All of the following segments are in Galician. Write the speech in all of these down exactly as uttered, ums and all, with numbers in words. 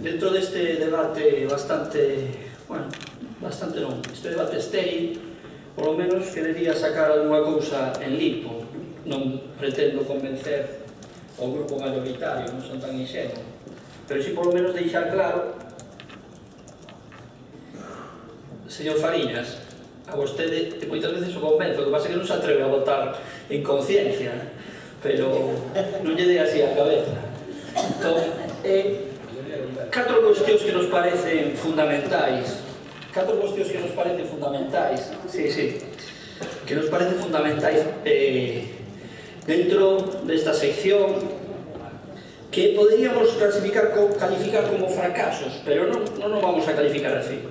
dentro deste debate bastante, bueno, bastante non, este debate estéril, polo menos querería sacar alguna cousa en limpo. Non pretendo convencer o grupo mayoritario, non son tan inxenuo, pero si polo menos deixar claro, señor Fariñas, a vostede moitas veces o convenzo, o que pasa é que non se atreve a votar en conciencia, pero non lle dei así a cabeza. Entón, eh, catro cuestións que nos parecen fundamentais, catro cuestións que nos parecen fundamentais, sí, sí, que nos parecen fundamentais eh, dentro desta sección, que poderíamos clasificar, calificar como fracasos, pero non, non nos vamos a calificar así.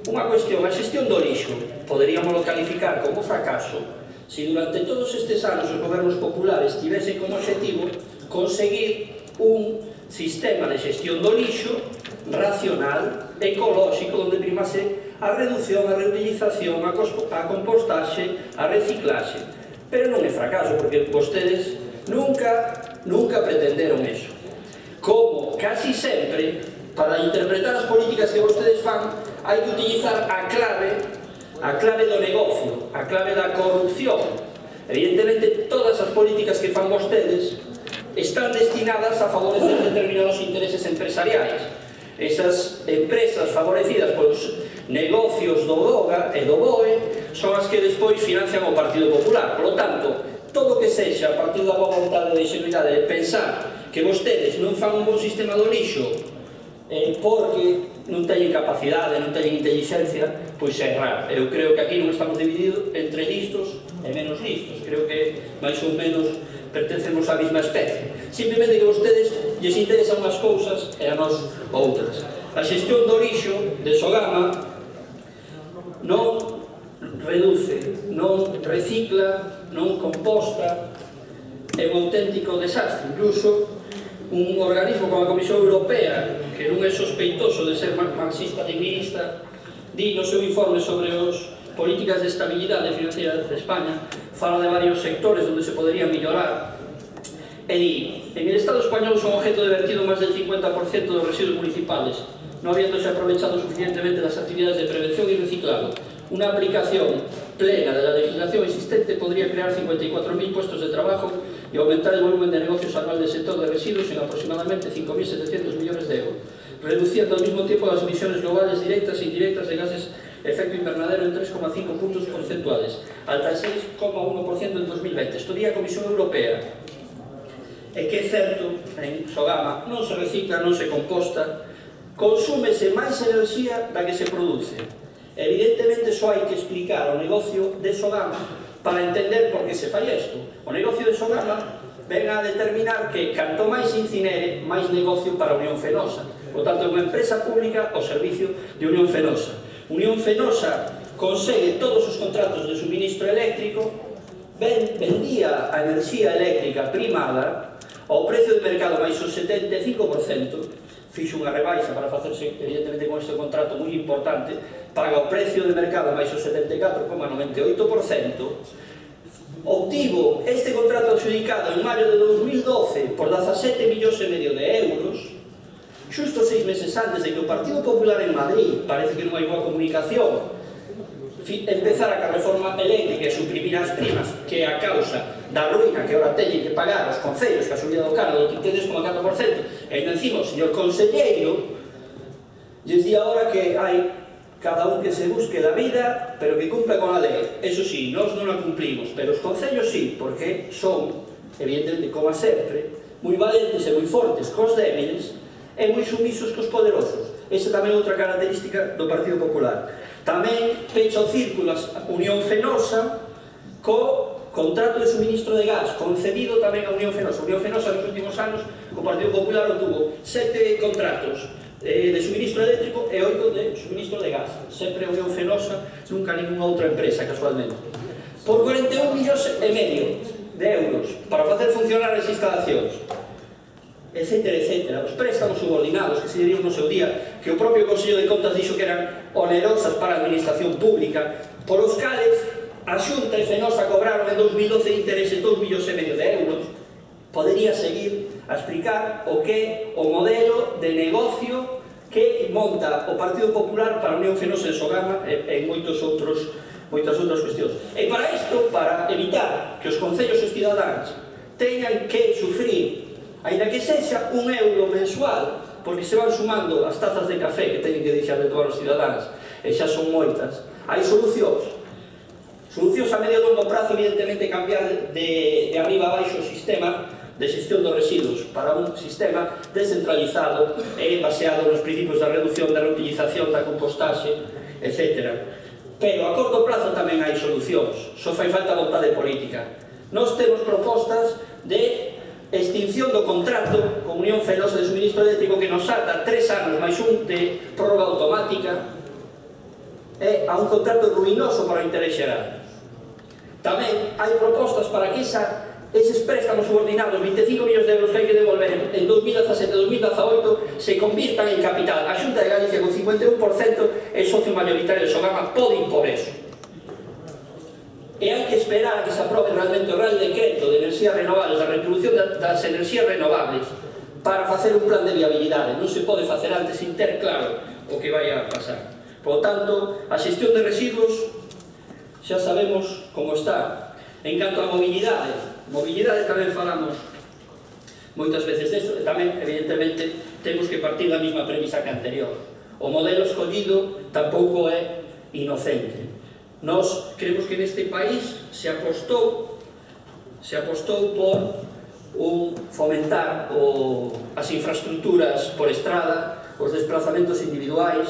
Unha cuestión, a xestión do lixo, poderíamos calificar como fracaso se durante todos estes anos os gobernos populares tivesen como objetivo conseguir un sistema de xestión do lixo racional, ecolóxico, onde primase a reducción, a reutilización, a compostaxe, a reciclaxe. Pero non é fracaso, porque vostedes nunca, nunca pretenderon eso. Como casi sempre, para interpretar as políticas que vostedes fan, hai que utilizar a clave, a clave do negocio, a clave da corrupción. Evidentemente, todas as políticas que fan vostedes están destinadas a favorecer determinados intereses empresariais. Esas empresas favorecidas polos negocios do DOGA e do BOE son as que despois financian o Partido Popular. Por lo tanto, todo o que sexa a partir da boa vontade de ingenuidade de pensar que vostedes non fan un bon sistema do lixo eh, porque non teñen capacidade, non teñen inteligencia, pois é raro. Eu creo que aquí non estamos divididos entre listos e menos listos. Creo que máis ou menos pertencemos á mesma especie. Simplemente que vostedes lles interesan unhas cousas e a nós outras. A xestión do lixo de Sogama non reduce, non recicla, non composta, é un auténtico desastre. Incluso un organismo como a Comisión Europea, que non é sospeitoso de ser marxista-leninista, di no seu informe sobre as políticas de estabilidade financiera de España, fala de varios sectores onde se podería mellorar, e di: en el Estado español son objeto de vertido máis del cincuenta por cento dos residuos municipales, non habiéndose aprovechado suficientemente las actividades de prevención y reciclado. Una aplicación plena de la legislación existente podría crear cincuenta y cuatro mil puestos de trabajo y aumentar el volumen de negocios anual del sector de residuos en aproximadamente cinco mil setecientos millones de euros, reduciendo al mismo tiempo las emisiones globales directas e indirectas de gases de efecto invernadero en tres coma cinco puntos porcentuales, hasta el seis coma uno por ciento en dos mil veinte. Esto di a Comisión Europea. E que é certo, en Sogama non se recicla, non se composta, consúmese máis enerxía da que se produce. Evidentemente, só hai que explicar o negocio de Sogama para entender por que se fai isto. O negocio de Sogama ven a determinar que canto máis incinere, máis negocio para a Unión Fenosa. Por tanto, é unha empresa pública ao servicio de Unión Fenosa. Unión Fenosa consegue todos os contratos de suministro eléctrico, vendía a enerxía eléctrica primada ao precio de mercado máis o setenta e cinco por cento, fixo unha rebaixa para facerse, evidentemente, con este contrato moi importante, paga o precio de mercado máis o setenta e catro coma noventa e oito por cento, obtivo este contrato adjudicado en maio de dos mil doce por dezasete millóns e medio de euros, xusto seis meses antes de que o Partido Popular en Madrid, parece que non hai boa comunicación, empezara a reforma eléctrica e suprimir as primas, que é a causa da ruína que ahora teñen que pagar os concellos, que a subida do cano do trinta e tres coma catro por cento, e encima o señor conselleiro lles di agora que hai cada un que se busque la vida, pero que cumpla con a lei. Eso sí, nós non a cumplimos, pero os concellos sí, porque son, evidentemente, como sempre, moi valentes e moi fortes cos débiles e moi sumisos cos poderosos. Esa tamén é outra característica do Partido Popular. Tamén pecha o círculo a Unión Fenosa co contrato de suministro de gas, concedido tamén a Unión Fenosa. A Unión Fenosa nos últimos anos, o Partido Popular obtuvo sete contratos de suministro eléctrico e oito de suministro de gas. Sempre a Unión Fenosa, nunca ninguna outra empresa, casualmente. Por cuarenta e un millóns e medio de euros para facer funcionar as instalacións, etcétera, etcétera. Os préstamos subordinados, que se dirían no seu día, que o propio Consello de Contas dixo que eran onerosas para a administración pública, por os cales a Xunta e Fenosa cobraron en dos mil doce intereses dous millóns e medio de euros. Podería seguir a explicar o que o modelo modelo de negocio que monta o Partido Popular para a Unión Fenosa en Sogama e en moitos outros, moitas outras cuestións. E para isto, para evitar que os concellos e os cidadáns teñan que sufrir, ainda que sexa un euro mensual, porque se van sumando as tazas de café que teñen que deixar de tomar os cidadáns, e xa son moitas, hai solucións. Solucións a medio e longo prazo, evidentemente, cambiar de, de arriba a baixo o sistema de xestión dos residuos para un sistema descentralizado e baseado nos principios da reducción, da reutilización, da compostaxe, etcétera. Pero a corto plazo tamén hai solucións, só fai falta vontade política. Nós temos propostas de extinción do contrato con Unión Fenosa de Suministro Eléctrico que nos ata tres anos máis un de prórroga automática e a un contrato ruinoso para o interés xeral. Tamén hai propostas para que esa eses préstamos subordinados, vinte e cinco millóns de euros que hai que devolver en dos mil dezasete e dos mil dezaoito, se convirtan en capital. A Xunta de Galicia, con cincuenta e un por cento, é socio mayoritario de Sogama, pode impor eso. E hai que esperar a que se aprobe realmente o Real Decreto de Enerxías Renovables, a retribución das enerxías renovables, para facer un plan de viabilidade. Non se pode facer antes sin ter claro o que vai a pasar. Por lo tanto, a xestión de residuos xa sabemos como está. En canto a mobilidade, mobilidade tamén falamos moitas veces desto, e tamén, evidentemente, temos que partir da mesma premisa que anterior. O modelo escollido tampouco é inocente. Nós creemos que neste país se apostou se apostou por un fomentar o, as infraestructuras por estrada, os desplazamentos individuais,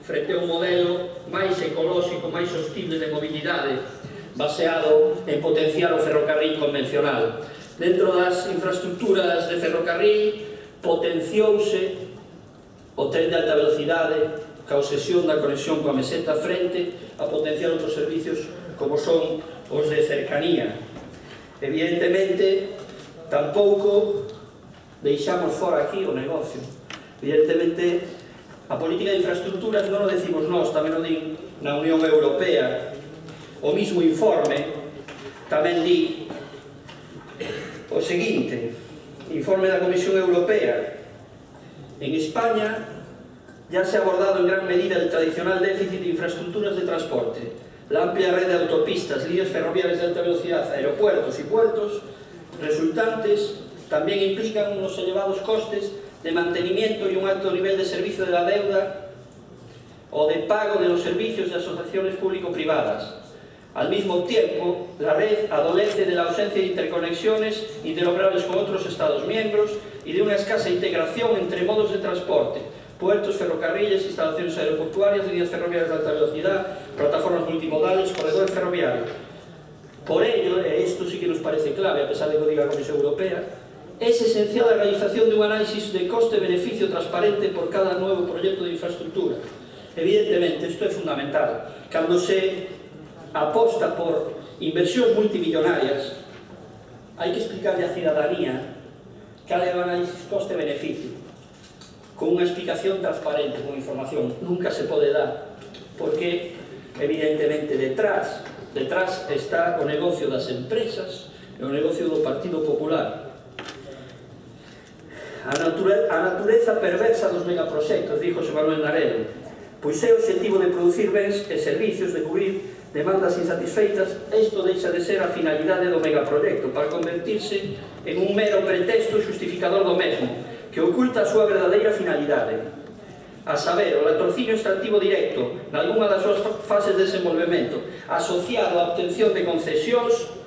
frente a un modelo máis ecolóxico, máis sostible de mobilidade, baseado en potenciar o ferrocarril convencional. Dentro das infraestructuras de ferrocarril potenciouse o tren de alta velocidade, ca obsesión da conexión coa meseta, frente a potenciar outros servicios como son os de cercanía. Evidentemente, tampouco deixamos fora aquí o negocio. Evidentemente, a política de infraestructuras non o decimos nós, tamén o din na Unión Europea. O mismo informe tamén di o seguinte, informe da Comisión Europea: en España ya se ha abordado en gran medida el tradicional déficit de infraestructuras de transporte. La amplia red de autopistas, líneas ferroviarias de alta velocidad, aeropuertos y puertos resultantes también implican unos elevados costes de mantenimiento y un alto nivel de servicio de la deuda o de pago de los servicios de asociaciones público-privadas. Al mismo tiempo, la red adolece de la ausencia de interconexiones interoperables con otros Estados miembros y de una escasa integración entre modos de transporte, puertos, ferrocarriles, instalaciones aeroportuarias, líneas ferroviarias de alta velocidad, plataformas multimodales, corredores ferroviarios. Por ello, e isto sí que nos parece clave, a pesar de que o diga a Comisión Europea, es esencial la realización de un análisis de coste-beneficio transparente por cada nuevo proyecto de infraestructura. Evidentemente, isto é fundamental. Cando se aposta por inversións multimillonarias, hai que explicarle á cidadanía cal é o análisis coste-beneficio, con unha explicación transparente, con información. Nunca se pode dar, porque, evidentemente, detrás, detrás está o negocio das empresas e o negocio do Partido Popular. A, nature, a natureza perversa dos megaproxectos, dijo José Manuel Naredo, pois é o objetivo de producir bens e servicios, de cubrir demandas insatisfeitas. Isto deixa de ser a finalidade do megaproxecto para convertirse en un mero pretexto xustificador do mesmo, que oculta a súa verdadeira finalidade, a saber, o latrocinio extractivo directo nalgúna das súas fases de desenvolvemento, asociado á obtención de concesións,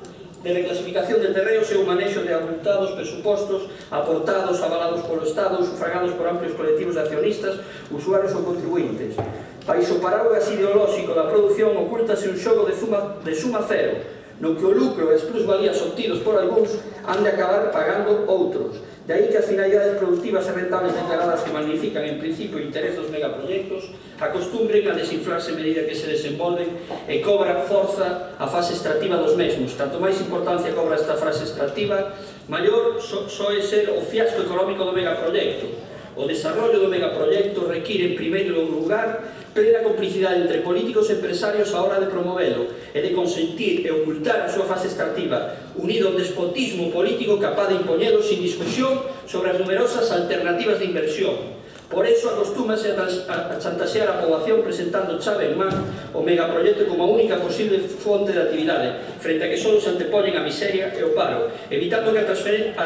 de reclasificación de terreos e o manexo de abultados presupostos aportados, avalados polo Estado, sufragados por amplios colectivos de accionistas, usuarios ou contribuintes. Baixo o paraguas ideolóxico da produción ocultase un xogo de suma, de suma cero, no que o lucro e as plusvalías obtidos por algúns han de acabar pagando outros. De aí que as finalidades productivas e rentables declaradas que magnifican en principio o interés dos megaproxectos acostumbren a desinflarse a medida que se desenvolven e cobran forza a fase extractiva dos mesmos. Tanto máis importancia cobra esta fase extractiva, maior so, soe ser o fiasco económico do megaproxecto. O desarrollo do megaproxecto require, en primeiro lugar, plena complicidade entre políticos e empresarios a hora de promovelo e de consentir e ocultar a súa fase extractiva, unido ao despotismo político capaz de impoñelo sin discusión sobre as numerosas alternativas de inversión. Por eso acostúmase a chantaxear a poboación presentando chave en man o megaproxecto como a única posible fonte de actividade, frente a que só se antepoñen a miseria e o paro, evitando que a, a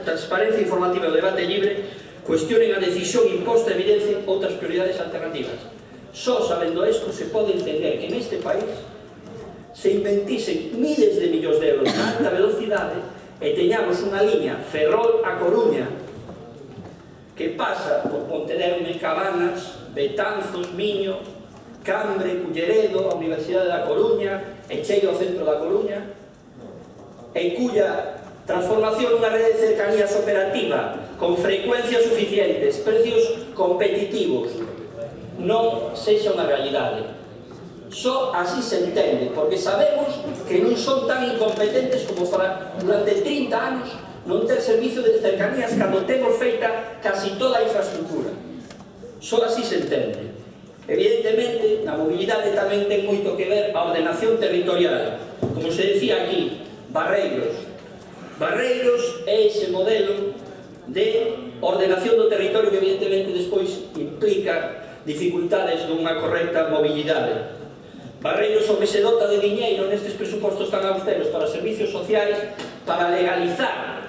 transparencia informativa e o debate libre cuestionen a decisión imposta e evidencien outras prioridades alternativas. Só sabendo isto se pode entender que neste país se inventisen miles de millóns de euros na alta velocidade e teñamos unha liña Ferrol a Coruña que pasa por Pontedeume, Cabanas, Betanzos, Miño, Cambre, Culleredo, a Universidade da Coruña, e chega ao centro da Coruña, e cuya transformación nunha rede de cercanías operativa, con frecuencias suficientes, precios competitivos, non sexa unha realidade. Só así se entende, porque sabemos que non son tan incompetentes como para durante trinta anos non ter servicio de cercanías cando temos feita casi toda a infraestructura. Só así se entende. Evidentemente, na mobilidade tamén ten moito que ver a ordenación territorial. Como se decía aquí, Barreiros. Barreiros é ese modelo de ordenación do territorio que evidentemente despois implica dificultades dunha correcta mobilidade. Barreiros o que se dota de diñeiro nestes presupostos tan austeros para servicios sociais para legalizar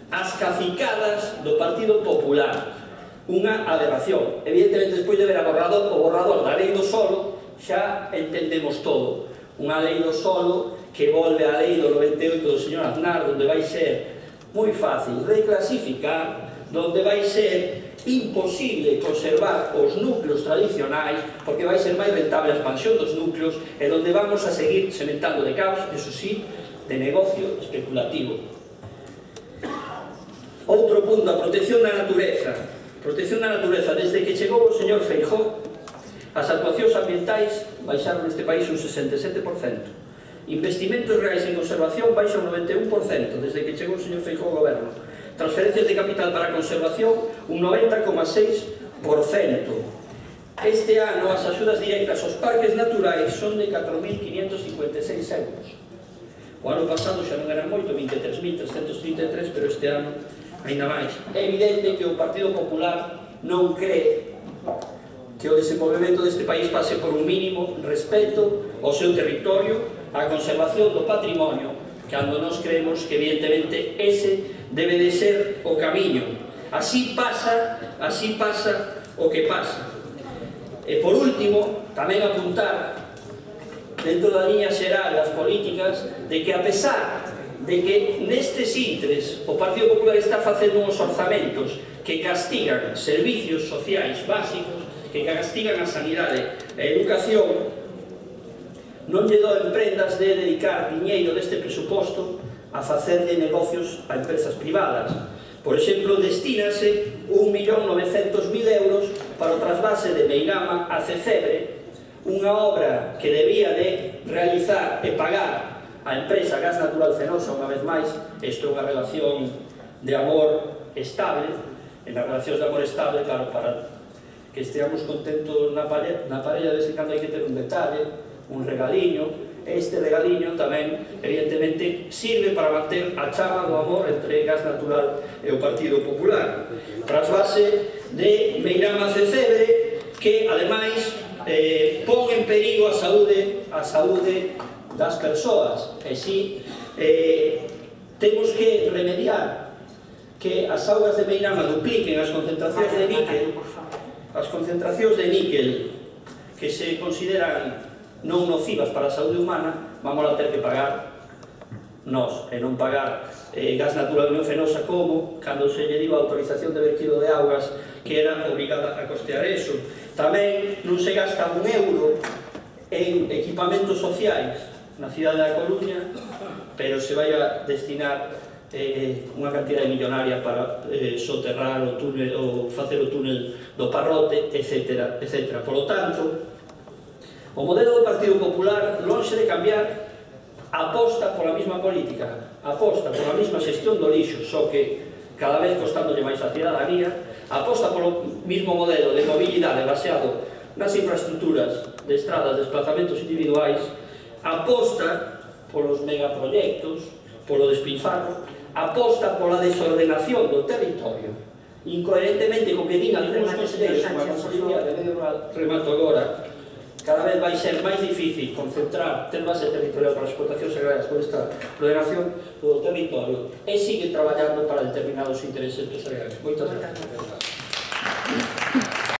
as cacicadas do Partido Popular. Unha aberración. Evidentemente, despois de ver a borrador, o borrador da lei do solo, xa entendemos todo. Unha lei do solo que volve á lei do noventa e oito do señor Aznar, onde vai ser moi fácil reclasificar, onde vai ser imposible conservar os núcleos tradicionais, porque vai ser máis rentable a expansión dos núcleos, e onde vamos a seguir sementando de caos, eso sí, de negocio especulativo. Outro punto, a protección da natureza. Protección da natureza. Desde que chegou o señor Feijóo, as actuacións ambientais baixaron neste país un sesenta e sete por cento. Investimentos reais en conservación baixan un noventa e un por cento desde que chegou o señor Feijóo ao goberno. Transferencias de capital para a conservación un noventa coma seis por cento. Este ano as axudas directas aos parques naturais son de catro mil quinhentos cincuenta e seis euros. O ano pasado xa non eran moito, vinte e tres mil trescentos trinta e tres, pero este ano ainda máis. É evidente que o Partido Popular non cree que o desenvolvemento deste país pase por un mínimo respeto ao seu territorio, á conservación do patrimonio, cando nós creemos que evidentemente ese debe de ser o camiño. Así pasa, así pasa o que pasa. E por último, tamén apuntar dentro da liña xeral das políticas de que a pesar de que nestes intres o Partido Popular está facendo uns orzamentos que castigan servicios sociais básicos, que castigan a sanidade e a educación, non lle doen prendas de dedicar diñeiro deste presuposto a facer de negocios a empresas privadas. Por exemplo, destínase un millón novecentos mil euros para o trasvase de Meirama a Cecebre, unha obra que debía de realizar e pagar a empresa Gas Natural Fenosa, unha vez máis. Isto é unha relación de amor estable, e nas relacións de amor estable, claro, para que esteamos contentos na parella, na parella de vez en cando hai que ter un detalle, un regaliño. Este regaliño tamén, evidentemente, sirve para manter a chama do amor entre Gas Natural e o Partido Popular. Trasvase de Meirama a Cecebre, que, ademais, eh, pon en perigo a saúde, a saúde das persoas. E si eh, temos que remediar que as augas de Meirama dupliquen as concentracións de níquel, as concentracións de níquel que se consideran non nocivas para a saúde humana, vamos a ter que pagar nós, e non pagar eh, Gas Natural Unión Fenosa, como cando se lle diu a autorización de vertido de augas, que era obrigada a costear eso. Tamén non se gasta un euro en equipamentos sociais na cidade da Coruña, pero se vai a destinar eh, unha cantidad millonaria para eh, soterrar o túnel, ou facer o túnel do Parrote, etcétera, etcétera. Por lo tanto, o modelo do Partido Popular, lonxe de cambiar, aposta pola mesma política, aposta pola mesma xestión do lixo, só que cada vez costándolle máis a cidadanía, aposta polo mesmo modelo de mobilidade baseado nas infraestructuras de estradas, desplazamentos individuais, aposta polos megaproxectos, polo despilfarro, aposta pola desordenación do territorio, incoherentemente co que din algúns conselleiros como a Consellería de Medio Rural, remato agora, cada vez vai ser máis difícil concentrar, ter base territorial para as explotacións agrarias por esta ordenación do territorio e sigue traballando para determinados intereses empresariales. Moitas gracias.